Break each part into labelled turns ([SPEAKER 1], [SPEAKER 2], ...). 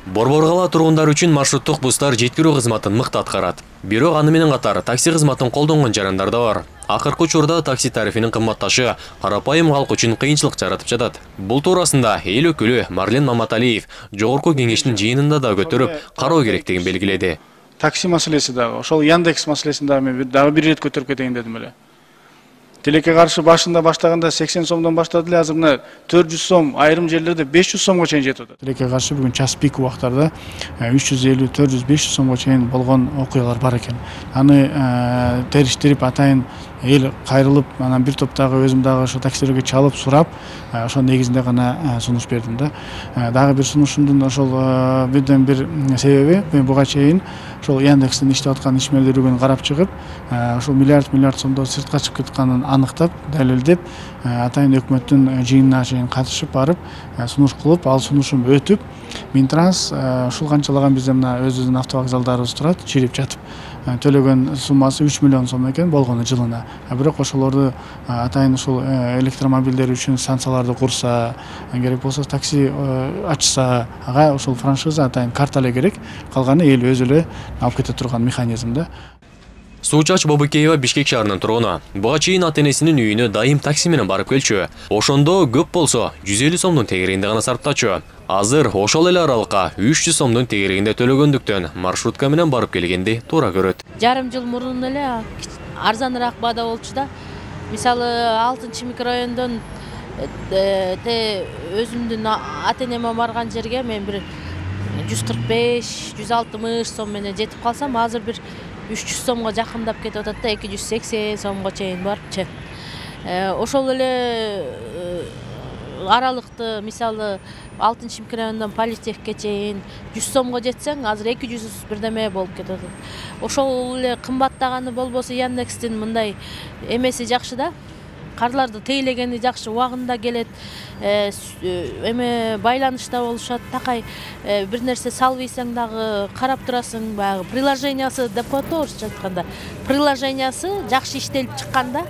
[SPEAKER 1] Борбор кала тургундары үчүн маршруттук бустар жеткирүү кызматын мыкты аткарат. Бирок аны менен катар такси кызматын колдонгон жарандар да бар. Акыркы учурда такси тарифинин кымбатташы карапайым калк үчүн кыйынчылык жаратып жатат. Бул туурасында эл өкүлү Марлен Маматалиев жогорку кеңештин жыйынында да көтөрүп, кароо керектигин белгиледи.
[SPEAKER 2] Такси маселеси дагы, ошол Яндекс маселесин дагы мен дагы бир ирет көтөрүп кетейин дедим эле. Тилекке каршы башында баштаганда 80 сомдон баштады эле, азыр мына 400 сом, айрым жерлерде 500 сомго чейин жетип атат. Тилекке каршы бүгүн час пик убактарда 350, 400, 500 сомго чейин болгон окуялар бар экен. Аны териштирип атайын эл кайрылып, анан бир топтогу өзүм дагы ошо таксилерге чалып сурап, ошол негизинде гана сунуш бердим да. Дагы бир сунушумдун ошол бирден бир себеби мен буга чейин ошол Яндекстин иштеп аткан ишмерлүүлүгүн карап чыгып, ошол миллиард сомдон сыртка чыгып кетканын аныктап, далилдеп, атайын өкмөттүн жыйынына чейин катышып барып, сунуш кылып, ал сунушум өтүп, Минтранс ушул канчалаган бизде мына өзүбүздүн автовокзалдарыбыз турат, чирип жатып, төлөгөн суммасы 3 миллион сом экен болгону жылына. Бирок ошолорду атайын ушул электромобилдер үчүн станцияларды курса, керек болсо такси ачса, ага ошол франшиза атайын карта эле керек, калганы эл өзү эле алып кете турган механизм да.
[SPEAKER 1] Суучач Бобукеева Бишкек шаарынын тургуну. Буга чейин ата-энесинин үйүнө дайым такси менен барып келчү. Ошондо көп болсо 150 сомдун тегерегинде гана сарптачу. Азыр ошол эле аралыкка 300 сомдун тегерегинде төлөгөндүктөн маршрутка менен барып келгенди туура көрөт.
[SPEAKER 3] Жарым жыл мурун эле арзаныраак баада болчу да. Мисалы 6-чы микрорайондон өзүмдүн ата-энеме барган жерге мен бир 145, 160 сом менен жетип калсам, азыр бир 300 сомго жакындап кетип атат да, 280 сомго чейин барыпчы. Ошол эле аралыкты мисалы 6-чы микрорайондон Политехке чейин 100 сомго жетсең, азыр 200 бирдеме болуп кетип атат. Ошол эле кымбаттаганы болбосо Яндекстин мындай эмеси жакшы да. Карларды тейлегени жакшы, убагында келет, эме байланышта болушат, такай бир нерсе салбыйсаң дагы карап турасың, баягы приложениясы деп коет орусча айтканда. Приложениясы жакшы иштелип чыкканда.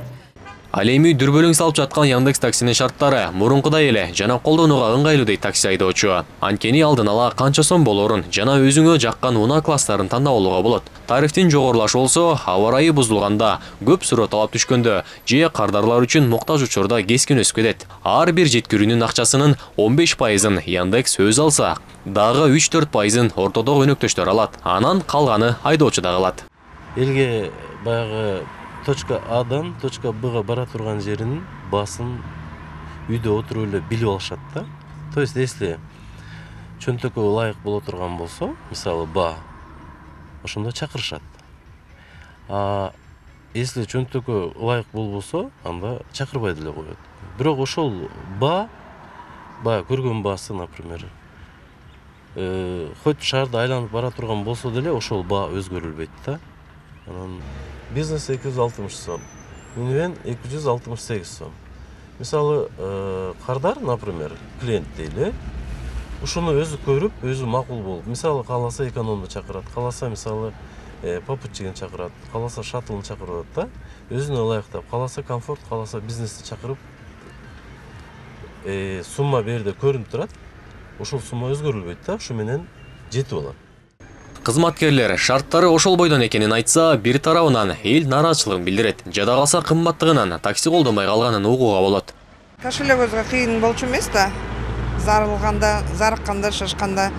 [SPEAKER 1] Ал эми дүрбөлөң салып жаткан Яндекс таксинин шарттары мурункудай эле жана колдонууга ыңгайлуу дейт такси айдоочу. Анткени алдын ала канча сом болорун жана өзүңө жаккан унаа класстарын тандап алууга болот. Тарифтин жогорулашы болсо, аба ырайы бузулганда, көп суроо талап түшкөндө же кардарлар үчүн муктаж учурда кескин өсүп кетет. Ар бир жеткирүүнүн акчасынын 15%-ын Яндекс өзү алса, дагы 3-4%-ын ортодогу өнөктөштөр алат. Анан калганы айдоочуда калат.
[SPEAKER 4] Элге баягы точка Адан точка Бга бара турган жеринин баасын үйдө отуруп эле билип алышат да. То есть, если чөнтөккө ылайык боло турган болсо, мисалы баа, ошондо чакырышат. Если чөнтөккө ылайык болбосо, анда чакырбай деле коет. Бирок ошол баа, баягы көргөн баасы, например, хоть шаарды айланып бара турган болсо деле, ошол баа өзгөрүлбөйт да. Анан бизнес 260 сом, минивэн 268 сом. Мисалы, кардар, например, клиент дейли, ушуну өзү көрүп, өзү макул болуп, мисалы кааласа экономду чакырат, кааласа мисалы попутчигин чакырат, кааласа шаттлын чакырып атат да, өзүнө ылайыктап, кааласа комфорт, кааласа бизнести чакырып, сумма берде көрүнүп турат, ошол сумма өзгөрүлбөйт да, ушу менен жетип алат.
[SPEAKER 1] Кызматкерлер шарттары ошол бойдон экенин айтса, бир тарабынан эл нааразычылыгын билдирет. Жада калса кымбаттыгынан такси колдонбой калганын угууга болот.
[SPEAKER 5] Кошелегибизге кыйын болчу эмес да. Зарыкканда, шашканда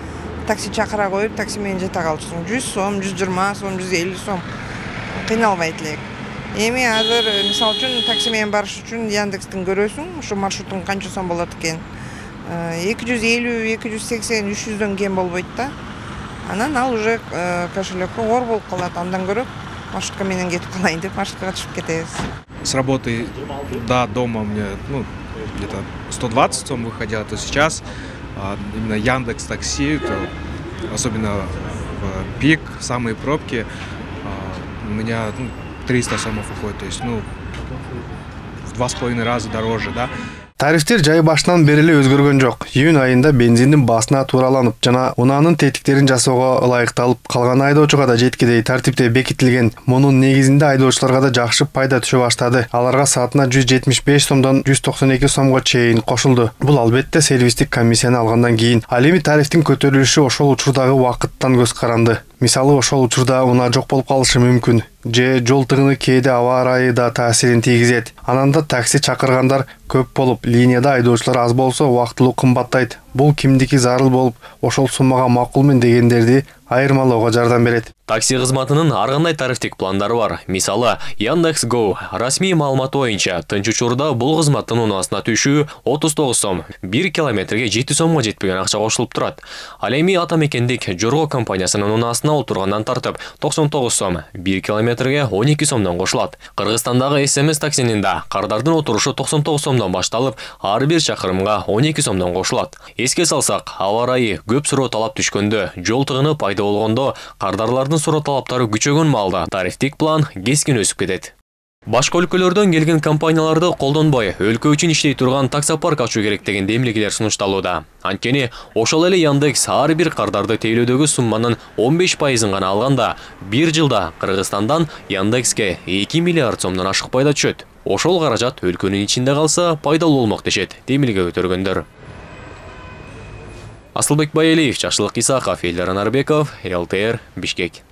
[SPEAKER 5] такси чакыра коюп, такси менен жете калчусуң. 100 сом, 120 сом, 150 сом кыйналбайт элек. Эми азыр мисалы үчүн такси менен барыш үчүн Яндекстин көрөсүң, ушу маршрутун канча сом болот экен. 250, 280, 300дөн кем болбойт да. Анан ал уже кошелекке оор болуп калат, андан көрө маршрутка менен кетип калайын деп маршруткага түшүп кетебиз.
[SPEAKER 6] С работы до дома мне где-то 120 сом выходило, то сейчас именно Яндекс Такси, особенно в пик, самые пробки, у меня 300 сомов уходит, то есть в 2,5 раза дороже, да.
[SPEAKER 7] Тарифтер жай башынан бери эле өзгөргөн жок. Июнь айында бензиндин баасына туураланып жана унаанын тетиктерин жасоого ылайыкталып калган айдоочуга да жеткидей тартипте бекитилген. Мунун негизинде айдоочуларга да жакшы пайда түшө баштады. Аларга саатына 175 сомдон 192 сомго чейин кошулду. Бул албетте сервистик комиссияны алгандан кийин. Ал эми тарифтин көтөрүлүшү ошол учурдагы убакыттан көз каранды. Мисалы ошол учурда унаа жок болуп калышы мүмкүн. Же жол тыгыны кээде аба ырайы да таасирин тийгизет. Анан да такси чакыргандар көп болуп, линияда айдоочулар аз болсо убактылуу кымбаттайт. Бул кимдики зарыл болуп, ошол суммага макулмун дегендерди айырмалоого жардам берет.
[SPEAKER 1] Такси кызматынын ар кандай тарифтик пландары бар. Мисалы, Яндекс.Go расмий маалыматы боюнча тынч учурда бул кызматтын унаасына түшүү 39 сом, 1 километрге 7 сомго жетпеген акча кошулуп турат. Ал эми ата мекендик Жорго компаниясынын унаасына отургандан тартып 99 сом, 1 километрге 12 сомдон кошулат. Кыргызстандагы СМС таксинин да кардардын отурушу 99 сомдон башталып, ар бир чакырымга 12 сомдон кошулат. Эске салсак, аба ырайы көп суроо талап түшкөндө, жол тыгыны пайда болгондо, кардарлардын суроо талаптары күчөгөн маалда тарифтик план кескин өсүп кетет. Башка өлкөлөрдөн келген компанияларды колдонбой, өлкө үчүн иштей турган таксопарк ачуу керек деген демилгелер сунушталууда. Анткени ошол эле Яндекс ар бир кардарды тейлөөдөгү сумманын 15%-ын гана алганда, бир жылда Кыргызстандан Яндекске 2 миллиард сомдон ашык пайда түшөт. Ошол каражат өлкөнүн ичинде калса пайдалуу болмок дешет демилге көтөргөндөр. Асылбек Байалиев, Жакшылык Исаков, Элдар Нарбеков, ЛТР, Бишкек.